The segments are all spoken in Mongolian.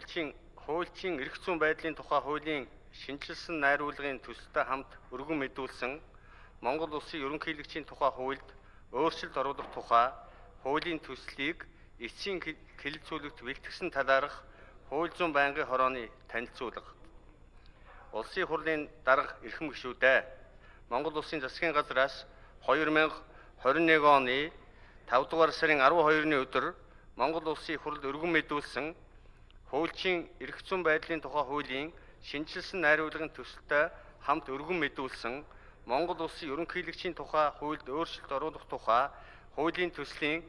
Хуульчийн эрх зүйн байдлын тухай хуулийн шинжилсэн найруулгын төсөлтэй хамт өргөн мэдүүлсэн Монгол Улсын ерөнхийлөгчийн тухай хуульд өөрчлөлт оруулах тухай хуулийн төслийг эцсийн хэлэлцүүлэгт бэлтгэсэн талаарх хууль зүйн байнгын хорооны танилцуулга. Улсын хурлын дарга эрхэм гишүүдээ Монгол Улсын засгийн газраас 2021 оны 5 дугаар сарын 12-ны өдөр Монгол Улсын хуралд өргөн мэдүүлсэн хуульчийн эрх зүйн байдлын тухай хуулийн шинжилсэн найруулгын төсөлтэй хамт өргөн мэдүүлсэн Монгол Улсын ерөнхийлөгчийн тухай хуульд өөрчлөлт оруулах тухай хуулийн төслийн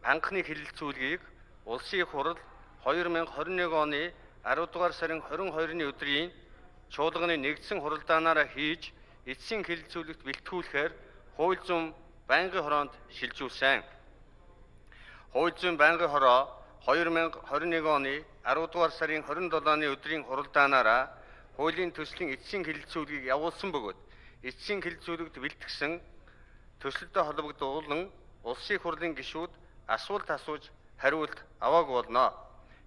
анхны хэлэлцүүлгийг Улсын хурал 2021 оны 10 дугаар сарын 22-ны өдрийн чуулганы нэгдсэн хуралдаанаараа хийж эцсийн хэлэлцүүлэгт бэлтгүүлэхээр хууль зүйн байнгын хороонд шилжүүлсэн. Хууль зүйн байнгын хороо 2021 оны 10 дугаар сарын 27-ны өдрийн хуралдаанаараа хуулийн төслийн эцсийн хэлэлцүүлгийг явуулсан бөгөөд эцсийн хэлэлцүүлэгт бэлтгэсэн төсөлдөө холбогдуулан Улсын хурлын гишүүд асуулт асууж хариулт аваагүй болно.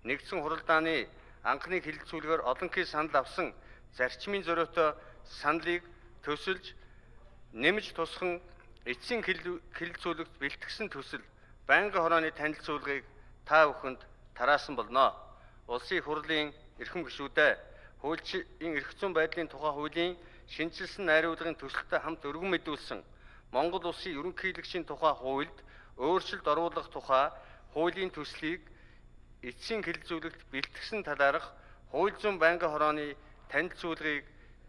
Нэгдсэн хуралдааны анхны хэлэлцүүлгээр олонхий санал авсан зарчмын зориотой саналыг төсөлж нэмж тусхан эцсийн хэлэлцүүлэгт бэлтгэсэн төсөл байнгын хорооны танилцуулгыг та бүхэнд тараасан болно. Улсын хурлын эрхэм гишүүдээ хуульчийн эрх зүйн байдлын тухай хуулийн шинжилсэн найруулгын төсөлтэй хамт өргөн мэдүүлсэн Монгол Улсын ерөнхийлөгчийн тухай хуульд өөрчлөлт оруулах тухай хуулийн төслийг эцсийн хэлэлцүүлэгт бэлтгэсэн талаарх хууль зүйн байнгын хорооны танилцуулгыг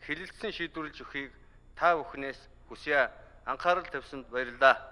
хэлэлцэн шийдвэрлэж өгөхийг та бүхнээс хүсье. Анхаарал тавьсанд баярлалаа.